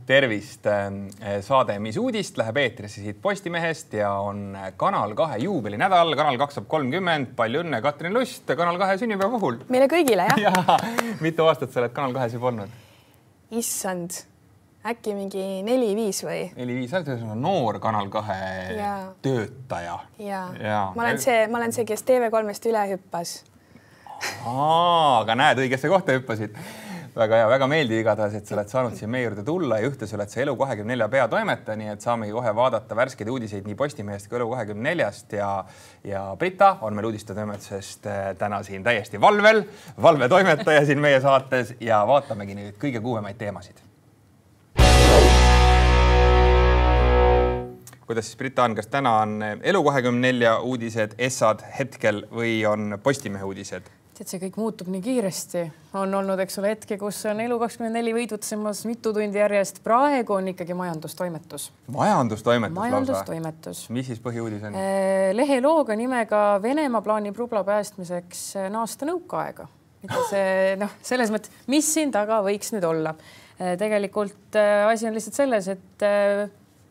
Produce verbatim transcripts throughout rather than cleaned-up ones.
tervist. Saade Mis uudist läheb eetrisse siit Postimehest ja on Kanal kahe juubelinädal. Kanal kaks saab kolmkümmend. Palju õnne, Katrin Lust, Kanal kahe sünnipäeva puhul. Meile kõigile, jah? Ja, mitu aastat sa oled Kanal kahes juba olnud? Issand, äkki mingi neli viis või? Neli viis, sa oled noor Kanal kahe ja. töötaja. Ja. Ja. Ma, olen see, ma olen see, kes T V kolmest üle hüppas. Aa, aga näed, õigesse kohta hüppasid. Väga hea, väga meeldiv igatahes, et sa oled saanud siia meie juurde tulla ja ühtes oled sa Elu kahekümne nelja peatoimetaja, nii et saamegi kohe vaadata värskeid uudiseid nii Postimehest kui Elu kahekümne neljast ja, ja Brita on meil uudistetoimetusest täna siin täiesti valvel, valvetoimetaja siin meie saates ja vaatamegi nüüd kõige kuumemaid teemasid. Kuidas siis Brita on, kas täna on Elu kahekümne nelja uudised, essad hetkel või on Postimehe uudised? Et see kõik muutub nii kiiresti. On olnud, eks ole, hetke, kus on Elu kakskümmend neli võidutsemas mitu tundi järjest. Praegu on ikkagi majandustoimetus. Majandustoimetus? Majandustoimetus. Mis siis põhiuudis on? Lehe looga nimega Venemaa plaanib rubla päästmiseks naasta nõukaaega. See, no, selles mõttes, mis siin taga võiks nüüd olla? Tegelikult asi on lihtsalt selles, et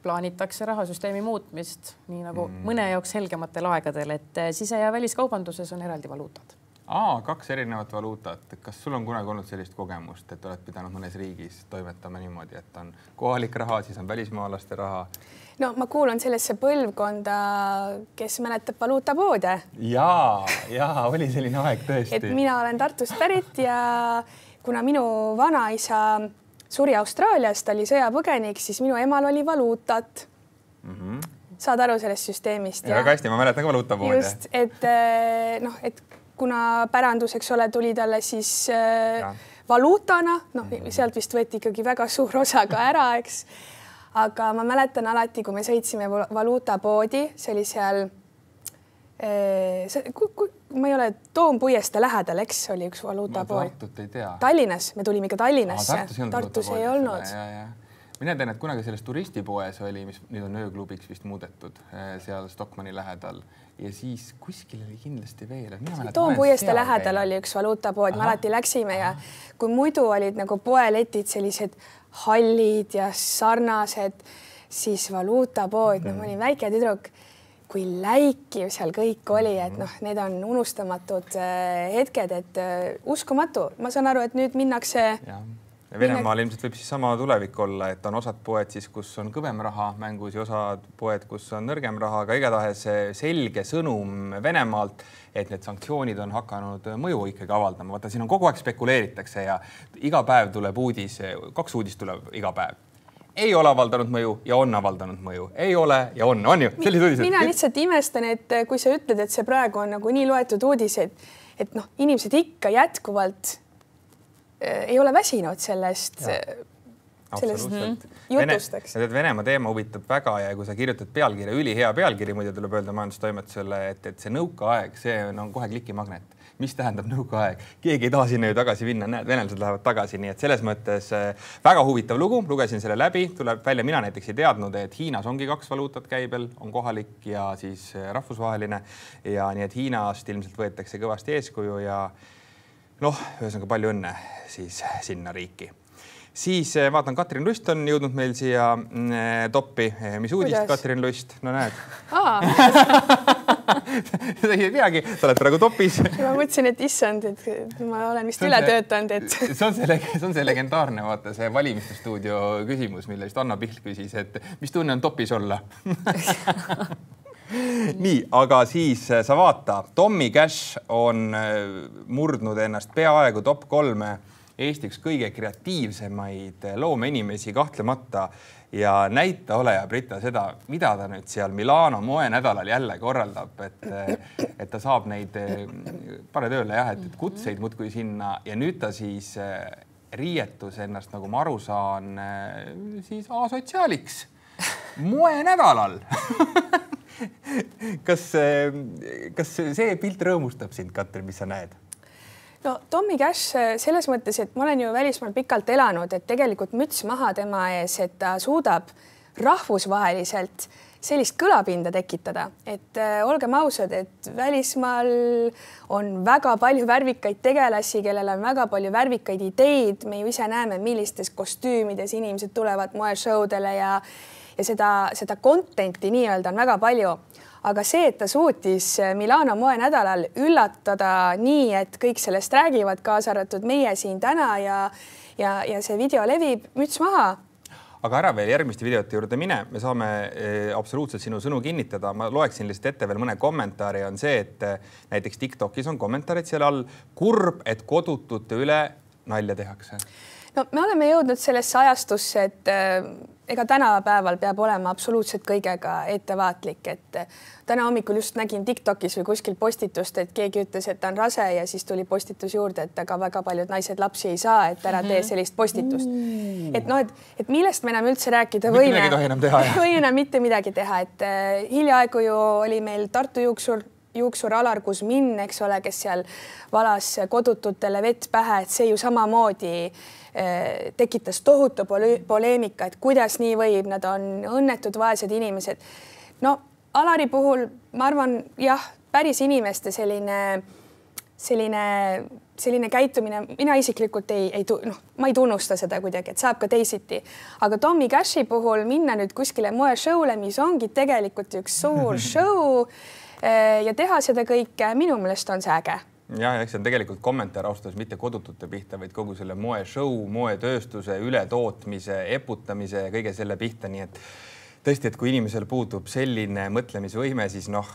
plaanitakse rahasüsteemi muutmist, nii nagu mm. mõne jaoks helgematel aegadel, et sise- ja väliskaubanduses on eraldi valuutad. Aa, kaks erinevat valuutat. Kas sul on kunagi olnud sellist kogemust, et oled pidanud mõnes riigis toimetama niimoodi, et on kohalik raha, siis on välismaalaste raha? No ma kuulun sellesse põlvkonda, kes mäletab valuutapoode. Jaa, jaa, oli selline aeg tõesti. Et mina olen Tartust pärit ja kuna minu vanaisa suri Austraaliast, oli sõjapõgenik, siis minu emal oli valuutat. Mm-hmm. Saad aru sellest süsteemist? Ja väga hästi, ma mäletan ka valuutapoode. Just, et, noh, et kuna päranduseks ole tuli talle siis ja. valuutana, noh, sealt vist võeti ikkagi väga suur osa ka ära, eks. Aga ma mäletan alati, kui me sõitsime valuutapoodi, see oli seal, see, kui, kui, ma ei ole Toompuieste lähedal, eks oli üks valuutapood. Tartut ei tea. Tallinnas, me tulime ka Tallinnasse. Aa, Tartus ei olnud. Ja, ja. Mina tean, et kunagi selles turistipoes oli, mis nüüd on ööklubiks vist muudetud seal Stockmanni lähedal ja siis kuskil oli kindlasti veel. Toompuieste lähedal oli üks valuutapood, me alati läksime ja kui muidu olid nagu poeletid sellised hallid ja sarnased, siis valuutapood, no ma olin väike tüdruk, kui läikiv seal kõik oli, et noh, need on unustamatud hetked, et uskumatu. Ma saan aru, et nüüd minnakse... Ja. Venemaal ilmselt võib siis sama tulevik olla, et on osad poed siis, kus on kõvem raha mängus ja osad poed, kus on nõrgem raha, aga igatahes selge sõnum Venemaalt, et need sanktsioonid on hakanud mõju ikkagi avaldama. Vaata, siin on kogu aeg spekuleeritakse ja iga päev tuleb uudis, kaks uudist tuleb iga päev. Ei ole avaldanud mõju ja on avaldanud mõju. Ei ole ja on, on ju? Mina lihtsalt imestan, et kui sa ütled, et see praegu on nagu nii loetud uudised, et noh, inimesed ikka jätkuvalt ei ole väsinud sellest, sellest jutustaks. Vene, Venemaa teema huvitab väga ja kui sa kirjutad pealkirja, üli hea pealkiri, muide tuleb öelda majandustoimetusele, et, et see nõukaaeg, see on kohe klikimagnet. Mis tähendab nõukaaeg? Keegi ei taha sinna ju tagasi minna, näed, venelased lähevad tagasi, nii et selles mõttes väga huvitav lugu, lugesin selle läbi, tuleb välja, mina näiteks ei teadnud, et Hiinas ongi kaks valuutat käibel, on kohalik ja siis rahvusvaheline ja nii, et Hiinast ilmselt võetakse kõvasti eeskuju ja noh, ühesõnaga palju õnne siis sinna riiki. Siis vaatan, Katrin Lust on jõudnud meil siia toppi. Mis uudist, Kuidas? Katrin Lust? No näed. Aa. Sa ei teagi, sa oled praegu topis. Ma mõtlesin, et issand, et ma olen vist üle töötanud. Et... See, on see, see on see legendaarne, vaata, see valimistustuudio küsimus, mille vist Anna Pihl küsis, et mis tunne on topis olla? Nii, aga siis sa vaata, Tommy Cash on murdnud ennast peaaegu top kolme Eesti üks kõige kreatiivsemaid loomeinimesi kahtlemata ja näita ole ja Brita seda, mida ta nüüd seal Milano moenädalal jälle korraldab, et, et ta saab neid pane tööle jah, et kutseid muudkui sinna ja nüüd ta siis riietus ennast, nagu ma aru saan, siis asotsiaaliks moenädalal. Kas, kas see pilt rõõmustab sind, Katrin, mis sa näed? No Tommy Cash selles mõttes, et ma olen ju välismaal pikalt elanud, et tegelikult müts maha tema ees, et ta suudab rahvusvaheliselt sellist kõlapinda tekitada, et äh, olgem ausad, et välismaal on väga palju värvikaid tegelasi, kellel on väga palju värvikaid ideid, me ju ise näeme, millistes kostüümides inimesed tulevad moeshowdele ja, ja seda, seda content'i nii-öelda on väga palju. Aga see, et ta suutis Milano moenädalal üllatada nii, et kõik sellest räägivad, kaasa arvatud meie siin täna ja, ja, ja see video levib, müts maha. Aga ära veel järgmiste videote juurde mine, me saame absoluutselt sinu sõnu kinnitada. Ma loeksin lihtsalt ette veel mõne kommentaari. On see, et näiteks TikTokis on kommentaarid seal all. Kurb, et kodutute üle nalja tehakse. No, me oleme jõudnud sellesse ajastusse, et ega tänapäeval peab olema absoluutselt kõigega ettevaatlik, et täna hommikul just nägin TikTokis või kuskil postitust, et keegi ütles, et ta on rase ja siis tuli postitus juurde, et aga väga paljud naised lapsi ei saa, et ära tee sellist postitust. Et noh, et, et millest me enam üldse rääkida võime, võime mitte midagi teha, et hiljaaegu ju oli meil Tartu juuksur, juuksur Alar Kuzmin, eks ole, kes seal valas kodututele vett pähe, et see ju samamoodi tekitas tohutu poleemika, et kuidas nii võib, nad on õnnetud vaesed inimesed. No Alari puhul ma arvan, jah, päris inimeste selline, selline, selline käitumine, mina isiklikult ei, ei, noh, ma ei tunnusta seda kuidagi, et saab ka teisiti. Aga Tommy Cashi puhul minna nüüd kuskile moeshowle, mis ongi tegelikult üks suur show ja teha seda kõike, minu meelest on see äge. Ja, eks see on tegelikult kommentaar austas mitte kodutute pihta, vaid kogu selle moe show, moetööstuse, ületootmise, eputamise ja kõige selle pihta. Nii et tõesti, et kui inimesel puudub selline mõtlemisvõime, siis noh,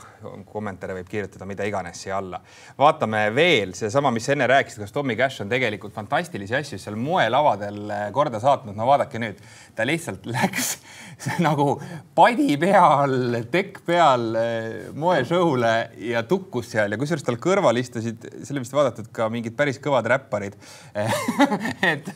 kommentaare võib kirjutada mida iganes siia alla. Vaatame veel see sama, mis enne rääkisid, kas Tommy Cash on tegelikult fantastilisi asju seal moelavadel korda saatnud. No vaadake nüüd, ta lihtsalt läks nagu padi peal, tekk peal moeshowle ja tukkus seal ja kusjuures tal kõrval istusid, selle vist vaadatud ka mingid päris kõvad räpparid. et,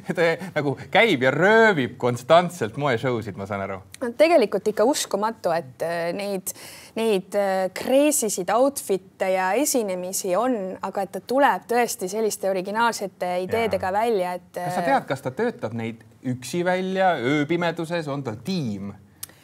et nagu käib ja röövib konstantselt moeshowsid, ma saan aru. Tegelikult ikka uskumatu, et neid, neid kreesisid outfit'e ja esinemisi on, aga et ta tuleb tõesti selliste originaalsete ideedega ja välja. Et... Kas sa tead, kas ta töötab neid üksi välja, ööpimeduses, on tal tiim?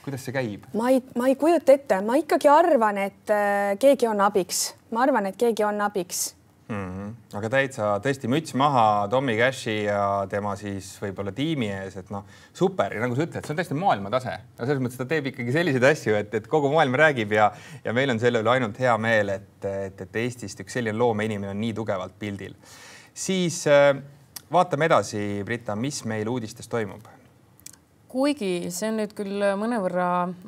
Kuidas see käib? Ma ei, ma ei kujuta ette, ma ikkagi arvan, et keegi on abiks. Ma arvan, et keegi on abiks. Mm-hmm. Aga täitsa tõesti müts maha Tommy Cashi ja tema siis võib-olla tiimi ees, et noh, super. Ja nagu sa ütled, see on täiesti maailma tase. Ja selles mõttes ta teeb ikkagi selliseid asju, et, et kogu maailm räägib ja, ja meil on selle üle ainult hea meel, et, et, et Eestist üks selline loome inimene on nii tugevalt pildil. Siis vaatame edasi, Britta, mis meil uudistes toimub? Kuigi see on nüüd küll mõnevõrra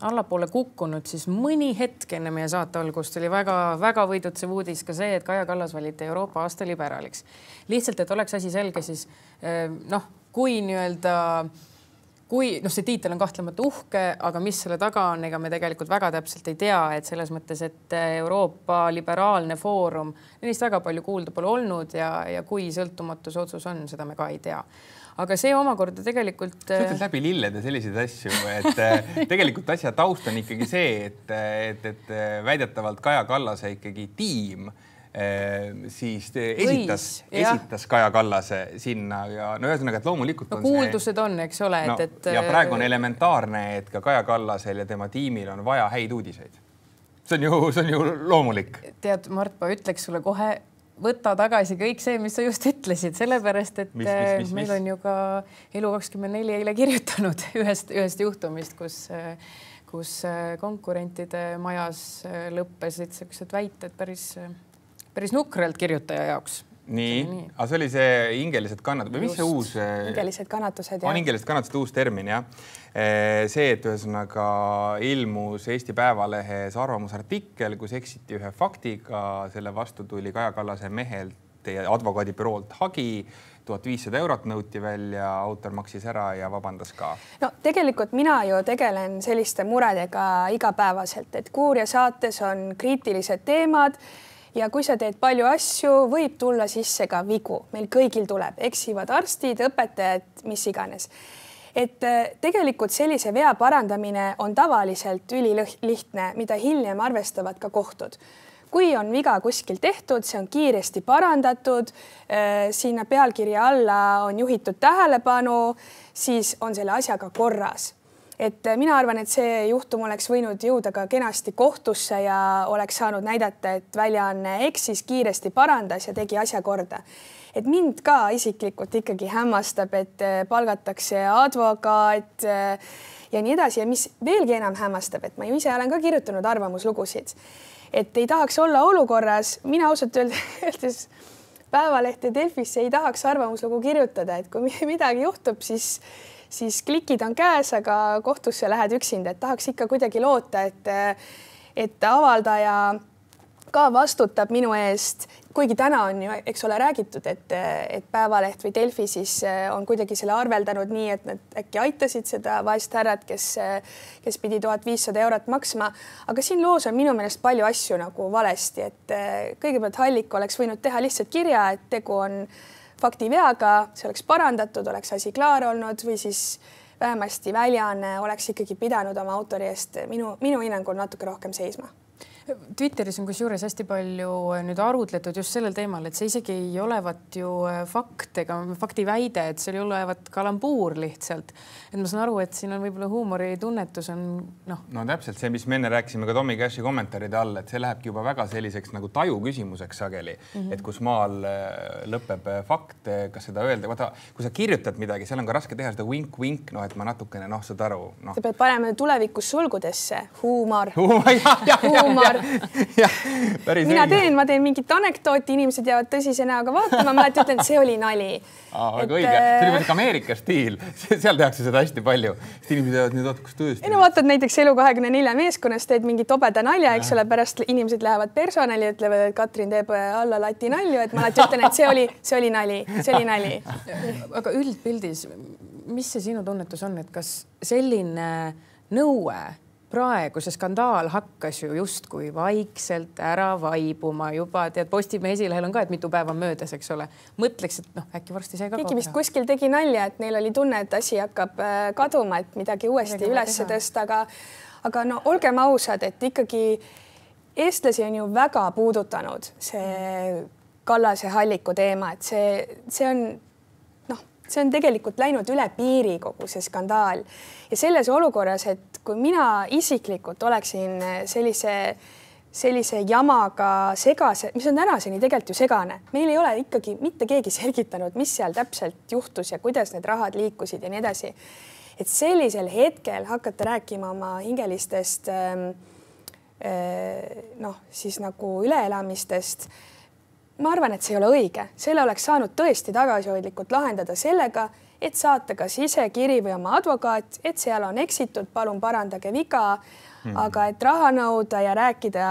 allapoole kukkunud, siis mõni hetk enne meie saate algust oli väga, väga võidutsev uudis ka see, et Kaja Kallas valiti Euroopa aasta liberaaliks. Lihtsalt, et oleks asi selge, siis noh, kui nii-öelda, kui noh, see tiitel on kahtlemata uhke, aga mis selle taga on, ega me tegelikult väga täpselt ei tea, et selles mõttes, et Euroopa liberaalne foorum, neist väga palju kuulda pole olnud ja, ja kui sõltumatuse otsus on, seda me ka ei tea. Aga see omakorda tegelikult... Sa ütled läbi lillede selliseid asju, et tegelikult asja taust on ikkagi see, et, et, et väidetavalt Kaja Kallase ikkagi tiim siis esitas, Võis, esitas Kaja Kallase sinna ja no ühesõnaga, et loomulikult on no, kuuldused see... on, eks ole. No, et, et... Ja praegu on elementaarne, et ka Kaja Kallasel ja tema tiimil on vaja häid uudiseid. See on ju, see on ju loomulik. Tead, Mart, ma ütleks sulle kohe võtta tagasi kõik see, mis sa just ütlesid, sellepärast, et mis, mis, mis, meil mis? on ju ka Elu kakskümmend neli eile kirjutanud ühest, ühest juhtumist, kus, kus konkurentide majas lõppesid sellised väited päris, päris nukralt kirjutaja jaoks. Nii, nii. aga see oli see hingelised kannatused või mis see uus? Hingelised kannatused, jah. Hingelised kannatused uus termin, jah. See, et ühesõnaga ilmus Eesti Päevalehes arvamusartikkel, kus eksiti ühe faktiga, selle vastu tuli Kaja Kallase mehelt ja advokaadibüroolt hagi, tuhat viissada eurot nõuti välja, autor maksis ära ja vabandas ka. No tegelikult mina ju tegelen selliste muredega igapäevaselt, et Kuuria saates on kriitilised teemad ja kui sa teed palju asju, võib tulla sisse ka vigu. Meil kõigil tuleb, eksivad arstid, õpetajad, mis iganes. Et tegelikult sellise vea parandamine on tavaliselt ülilihtne, mida hiljem arvestavad ka kohtud. Kui on viga kuskil tehtud, see on kiiresti parandatud, sinna pealkirja alla on juhitud tähelepanu, siis on selle asjaga korras. et mina arvan, et see juhtum oleks võinud jõuda ka kenasti kohtusse ja oleks saanud näidata, et väljaanne eksis, kiiresti parandas ja tegi asja korda. Et mind ka isiklikult ikkagi hämmastab, et palgatakse advokaat ja nii edasi ja mis veelgi enam hämmastab, et ma ju ise olen ka kirjutanud arvamuslugusid, et ei tahaks olla olukorras, mina ausalt öeldes Päevaleht ja Delfisse ei tahaks arvamuslugu kirjutada, et kui midagi juhtub, siis, siis klikid on käes, aga kohtusse lähed üksinda, et tahaks ikka kuidagi loota, et, et avaldaja ka vastutab minu eest, kuigi täna on ju, eks ole, räägitud, et, et Päevaleht või Delfi siis on kuidagi selle arveldanud nii, et nad äkki aitasid seda vaest härrat, kes, kes pidi tuhat viissada eurot maksma. Aga siin loos on minu meelest palju asju nagu valesti, et kõigepealt Hallik oleks võinud teha lihtsalt kirja, et tegu on faktiveaga, see oleks parandatud, oleks asi klaar olnud või siis vähemasti väljaanne oleks ikkagi pidanud oma autori eest minu, minu hinnangul natuke rohkem seisma. Twitteris on kusjuures hästi palju nüüd arutletud just sellel teemal, et see isegi ei olevat ju fakt ega fakti väide, et see ei olevat kalambuur lihtsalt. Et ma saan aru, et siin on võib-olla huumoritunnetus on noh. No täpselt see, mis me enne rääkisime ka Tommy Cashi kommentaaride all, et see lähebki juba väga selliseks nagu taju küsimuseks sageli, mm -hmm. et kus maal lõpeb fakt, kas seda öelda. Vaata, kui sa kirjutad midagi, seal on ka raske teha seda wink-wink, noh, et ma natukene, noh, saad aru. No. Sa pead panema tulevikus sulgudesse huumor. Huumor. Ja, mina teen, ma teen mingit anekdooti, inimesed jäävad tõsise näoga vaatama, ma ütlen, et see oli nali. Aa, väga õige. See oli mõnda Ameerika stiil. Seal tehakse seda hästi palju. Inimesed jäävad nüüd oot, kus tõesti. No vaatad näiteks Elu kahekümne nelja meeskonnas teed mingi tobeda nalja, eks ole, pärast inimesed lähevad personali ja ütlevad, et Katrin teeb alla lati nalju, et ma alati ütlen, et see oli, see oli nali, see oli nali. Aga üldpildis, mis see sinu tunnetus on, et kas selline nõue praegu see skandaal hakkas ju justkui vaikselt ära vaibuma juba, tead, Postimehe esilehel on ka, et mitu päeva möödas, eks ole. Mõtleks, et noh, äkki varsti sai ka Keegi vist kuskil tegi nalja, et neil oli tunne, et asi hakkab kaduma, et midagi uuesti midagi üles tõsta, aga, aga no olgem ausad, et ikkagi eestlasi on ju väga puudutanud see Kallase Halliku teema, et see, see on noh, see on tegelikult läinud üle piiri kogu see skandaal ja selles olukorras, et kui mina isiklikult oleksin sellise, sellise jamaga segase, mis on tänaseni tegelikult ju segane, meil ei ole ikkagi mitte keegi selgitanud, mis seal täpselt juhtus ja kuidas need rahad liikusid ja nii edasi. Et sellisel hetkel hakata rääkima oma hingelistest noh, siis nagu üleelamistest, ma arvan, et see ei ole õige. Selle oleks saanud tõesti tagasihoidlikult lahendada sellega, et saata kas ise kiri või oma advokaat, et seal on eksitud, palun parandage viga, mm. aga et raha nõuda ja rääkida,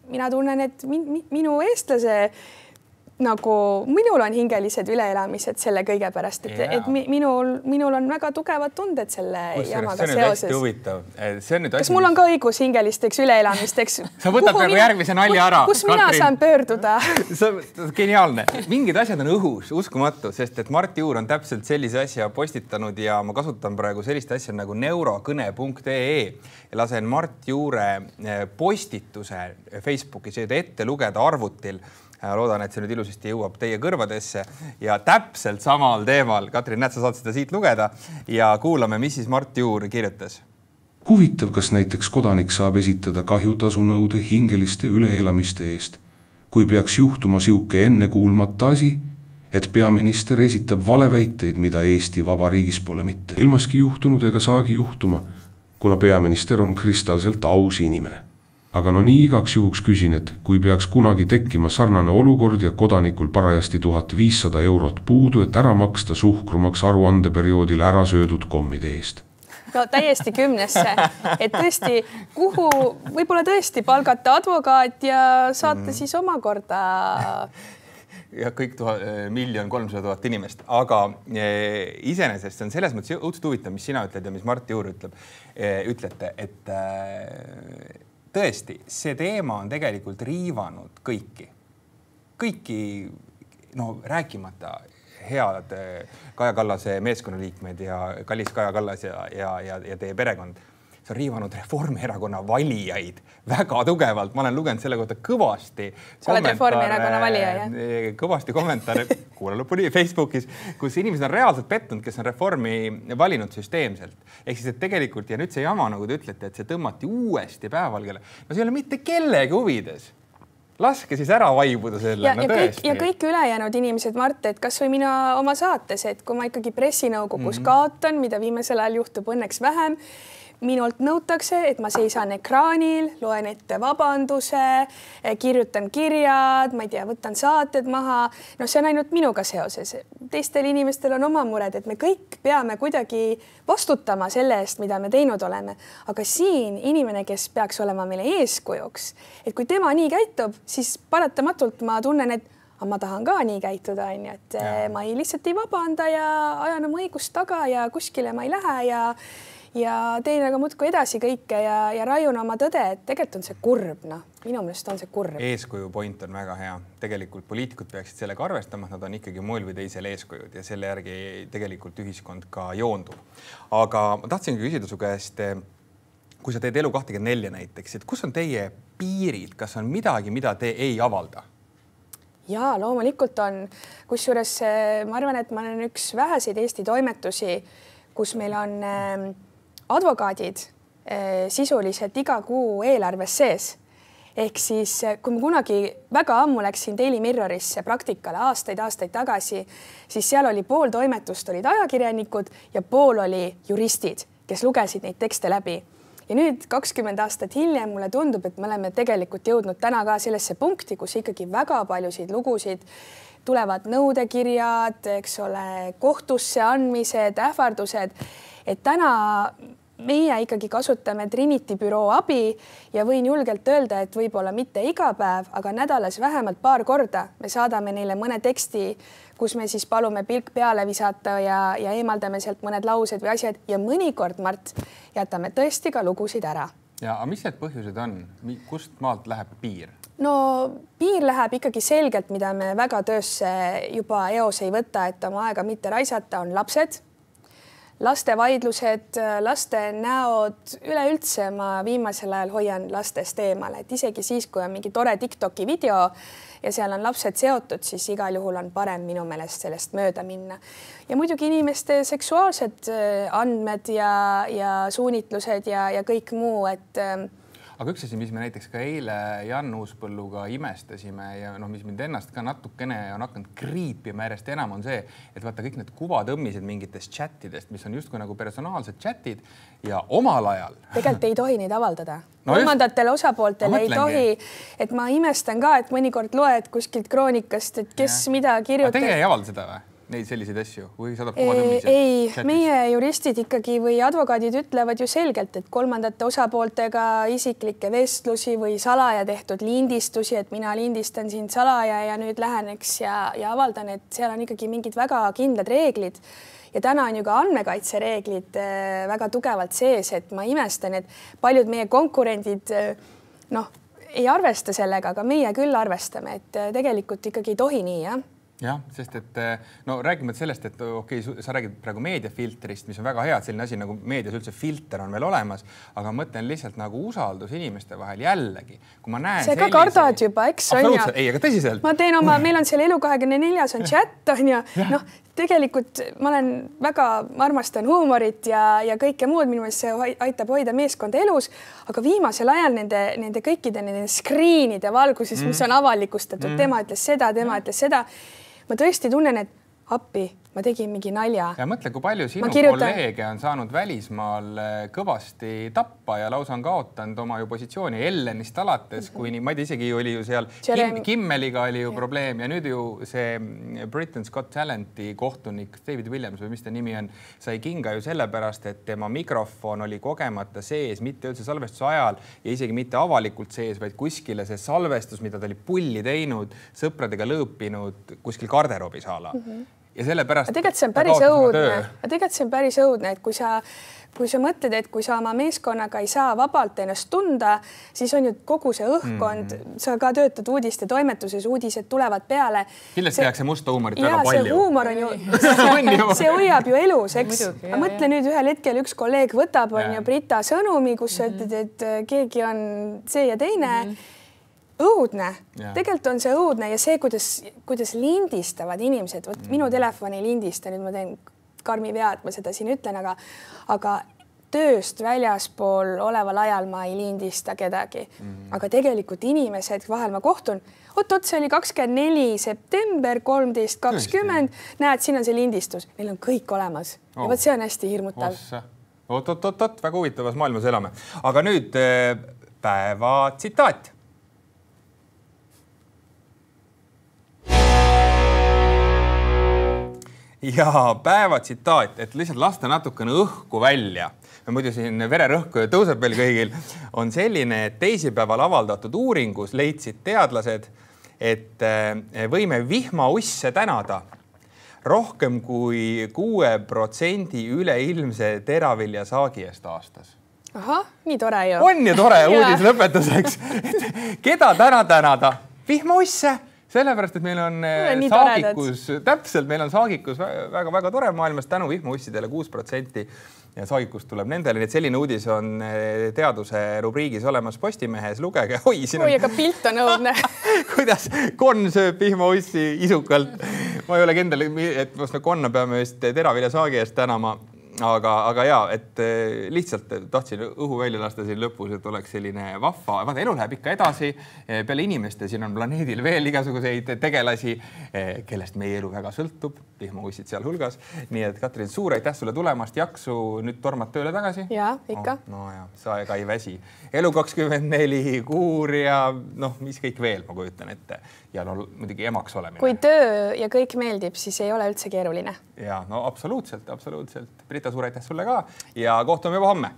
mina tunnen, et minu eestlase nagu minul on hingelised üleelamised selle kõige pärast, et, et minul, minul on väga tugevad tunded selle Kus, jamaga see seoses. Huvitav. See on nüüd kas mul on ka õigus hingelisteks üleelamisteks? Sa võtad praegu järgmise nalja ära. Kus mina Katrin? Saan pöörduda? Geniaalne. Mingid asjad on õhus, uskumatu, sest et Mart Juur on täpselt sellise asja postitanud ja ma kasutan praegu sellist asja nagu neurokõne punkt ee ja lasen Mart Juure postituse Facebookis ette lugeda arvutil. Loodan, et see nüüd ilusasti jõuab teie kõrvadesse ja täpselt samal teemal. Katrin, näed, sa saad seda siit lugeda ja kuulame, mis siis Mart Juur kirjutas. Huvitav, kas näiteks kodanik saab esitada kahjutasu nõude hingeliste üleelamiste eest, kui peaks juhtuma siuke enne kuulmata asi, et peaminister esitab valeväiteid, mida Eesti Vabariigis pole mitte ilmaski juhtunud ega saagi juhtuma, kuna peaminister on kristalselt aus inimene. Aga no nii igaks juhuks küsin, et kui peaks kunagi tekkima sarnane olukord ja kodanikul parajasti tuhat viissada eurot puudu, et ära maksta suhkrumaks aruandeperioodil ära söödud kommide eest. No täiesti kümnesse, et tõesti, kuhu võib-olla tõesti palgata advokaat ja saata mm. siis omakorda ja kõik tuha, miljon kolmsada tuhat inimest, aga e, iseenesest see on selles mõttes õudselt huvitav, mis sina ütled ja mis Mart Juur ütleb, e, ütlete, et e, tõesti, see teema on tegelikult riivanud kõiki, kõiki, no rääkimata head Kaja Kallase meeskonnaliikmed ja kallis Kaja Kallas ja, ja, ja, ja teie perekond. see on riivanud Reformierakonna valijaid väga tugevalt. Ma olen lugenud selle kohta kõvasti. Sa oled Reformierakonna valija, jah? Kõvasti kommentaare, kuule lõpuni Facebookis, kus inimesed on reaalselt pettunud, kes on Reformi valinud süsteemselt. Ehk siis, et tegelikult, ja nüüd see jama, nagu te ütlete, et see tõmmati uuesti päevavalgele. No see ei ole mitte kellegi huvides. Laske siis ära vaibuda selle. Ja, no, ja, kõik, ja kõik ülejäänud inimesed, Mart, et kas või mina oma saates, et kui ma ikkagi pressinõukogus mm-hmm. kaotan, mida viimasel ajal juhtub õnneks vähem, minult nõutakse, et ma seisan ekraanil, loen ette vabanduse, kirjutan kirjad, ma ei tea, võtan saated maha. No see on ainult minuga seoses. Teistel inimestel on oma mured, et me kõik peame kuidagi vastutama selle eest, mida me teinud oleme. Aga siin inimene, kes peaks olema meile eeskujuks, et kui tema nii käitub, siis paratamatult ma tunnen, et aga ma tahan ka nii käituda, on ju, et ja. ma ei lihtsalt ei vabanda ja ajan oma õigust taga ja kuskile ma ei lähe ja ja teen aga muudkui edasi kõike ja, ja raiun oma tõde, et tegelikult on see kurb, noh, minu meelest on see kurb. Eeskuju point on väga hea. Tegelikult poliitikud peaksid sellega arvestama, nad on ikkagi moel või teisel eeskujud ja selle järgi tegelikult ühiskond ka joondub. Aga ma tahtsingi küsida su käest, kui sa teed elu kakskümmend neli näiteks, et kus on teie piirid, kas on midagi, mida te ei avalda? Jaa, loomulikult on. Kusjuures ma arvan, et ma olen üks väheseid Eesti toimetusi, kus meil on advokaadid sisuliselt iga kuu eelarves sees. Ehk siis, kui ma kunagi väga ammu läksin Daily Mirrorisse praktikale aastaid, aastaid tagasi, siis seal oli pool toimetust olid ajakirjanikud ja pool oli juristid, kes lugesid neid tekste läbi. Ja nüüd kakskümmend aastat hiljem mulle tundub, et me oleme tegelikult jõudnud täna ka sellesse punkti, kus ikkagi väga paljusid lugusid tulevad nõudekirjad, eks ole, kohtusse andmised, ähvardused, et täna meie ikkagi kasutame Trinity büroo abi ja võin julgelt öelda, et võib-olla mitte iga päev, aga nädalas vähemalt paar korda me saadame neile mõne teksti, kus me siis palume pilk peale visata ja, ja eemaldame sealt mõned laused või asjad ja mõnikord, Mart, jätame tõesti ka lugusid ära. Ja aga mis need põhjused on? Kust maalt läheb piir? No piir läheb ikkagi selgelt, mida me väga töösse juba eos ei võta, et oma aega mitte raisata, on lapsed. Laste vaidlused, laste näod, üleüldse ma viimasel ajal hoian lastest eemale, et isegi siis, kui on mingi tore TikToki video ja seal on lapsed seotud, siis igal juhul on parem minu meelest sellest mööda minna. Ja muidugi inimeste seksuaalsed andmed ja, ja suunitlused ja, ja kõik muu, et aga üks asi, mis me näiteks ka eile Jan Uuspõlluga imestasime ja noh, mis mind ennast ka natukene on hakanud kriipima järjest enam on see, et vaata kõik need kuvatõmmised mingitest chatidest, mis on justkui nagu personaalsed chatid ja omal ajal. Tegelikult ei tohi neid avaldada. No kolmandatele osapooltele ei tohi, et ma imestan ka, et mõnikord loed kuskilt kroonikast, et kes ja. mida kirjutab. Aga teie ei avalda seda või? Neid selliseid asju või saadab kuvatõmmised? Ei, chatis? Meie juristid ikkagi või advokaadid ütlevad ju selgelt, et kolmandate osapooltega isiklikke vestlusi või salaja tehtud lindistusi, et mina lindistan siin salaja ja nüüd läheneks ja, ja avaldan, et seal on ikkagi mingid väga kindlad reeglid. Ja täna on ju ka andmekaitsereeglid väga tugevalt sees, et ma imestan, et paljud meie konkurendid noh, ei arvesta sellega, aga meie küll arvestame, et tegelikult ikkagi ei tohi nii, jah. Jah, sest et no räägime sellest, et okei, okay, sa räägid praegu meediafiltrist, mis on väga hea, et selline asi nagu meedias üldse filter on veel olemas, aga mõtlen lihtsalt nagu usaldus inimeste vahel jällegi. Kui ma näen see ka sellise... kardad juba, eks on ja... Ei, aga tõsiselt. Ma teen oma, meil on seal Elu kahekümne neljas on chat on ja noh, tegelikult ma olen väga, ma armastan huumorit ja, ja kõike muud, minu meelest see aitab hoida meeskonda elus, aga viimasel ajal nende, nende kõikide nende screenide valguses, mm. mis on avalikustatud, mm. tema ütles seda, tema mm. ütles seda. Ma tõesti tunnen, et appi, ma tegin mingi nalja. Ja mõtle, kui palju sinu kolleege on saanud välismaal kõvasti tappa ja lausa on kaotanud oma ju positsiooni Ellenist alates, kui nii, ma ei tea, isegi oli ju seal Kim, Kimmeliga oli ju ja. probleem ja nüüd ju see Britain's Got Talenti kohtunik David Williams või mis ta nimi on, sai kinga ju sellepärast, et tema mikrofon oli kogemata sees, mitte üldse salvestuse ajal ja isegi mitte avalikult sees, vaid kuskile see salvestus, mida ta oli pulli teinud, sõpradega lõõpinud kuskil garderoobis ala. Mm -hmm. ja sellepärast tegelikult see on päris õudne, tegelikult see on päris õudne, et kui sa, kui sa mõtled, et kui sa oma meeskonnaga ei saa vabalt ennast tunda, siis on ju kogu see õhkkond, mm. sa ka töötad uudiste toimetuses, uudised tulevad peale. Kindlasti tehakse musta huumorit väga palju. Ja see huumor on ju, see hoiab ju elus, eks. Ma mõtle nüüd ühel hetkel üks kolleeg võtab, on ju Brita sõnumi, kus sa ütled, et keegi on see ja teine. Õudne. Tegelikult on see õudne ja see, kuidas, kuidas lindistavad inimesed. Võt, minu telefoni ei lindista, nüüd ma teen karmi vea, et ma seda siin ütlen, aga, aga tööst väljaspool oleval ajal ma ei lindista kedagi. Mm. Aga tegelikult inimesed, vahel ma kohtun, oot-oot, see oli kakskümmend neli september, kolmteist kakskümmend, näed, siin on see lindistus. Neil on kõik olemas. Oh. Ja võt, see on hästi hirmutav. Oot-oot-oot, väga huvitavas maailmas elame. Aga nüüd päeva tsitaat. Ja päeva tsitaat, et lihtsalt lasta natukene õhku välja. Muidu siin vererõhku tõuseb veel kõigil. On selline, et teisipäeval avaldatud uuringus leidsid teadlased, et võime vihmausse tänada rohkem kui kuue protsendi üleilmse teravilja saagi eest aastas. Ahah, nii tore ju. On ju tore uudis lõpetuseks. Keda täna tänada? Vihmausse! Sellepärast, et meil on Nii saagikus, toredad. täpselt, meil on saagikus väga-väga tore maailmas tänu vihmaussidele kuus protsenti ja saagikust tuleb nendele. Nii et selline uudis on teaduse rubriigis olemas Postimehes. Lugege. Oi, siin on... Oi, aga pilt on õudne. Kuidas konn sööb vihmaussi isukalt. Ma ei ole kindel, et konna peame just teravilja saagi eest tänama. Aga, aga jaa, et lihtsalt tahtsin õhu välja lasta siin lõpus, et oleks selline vahva. Vaata, elu läheb ikka edasi. Peale inimeste siin on planeedil veel igasuguseid tegelasi, kellest meie elu väga sõltub. Vihmaussid seal hulgas. Nii et Katrin, suur aitäh sulle tulemast. Jaksu nüüd tormad tööle tagasi? Jaa, ikka. Oh, no ja, sa ega ei väsi. Elu kakskümmend neli, kuur ja noh, mis kõik veel, ma kujutan ette. Ja no muidugi emaks olemine. Kui töö ja kõik meeldib, siis ei ole üldse keeruline. Ja, no absoluutselt, absoluutselt. Brita, suur aitäh sulle ka ja kohtume juba homme.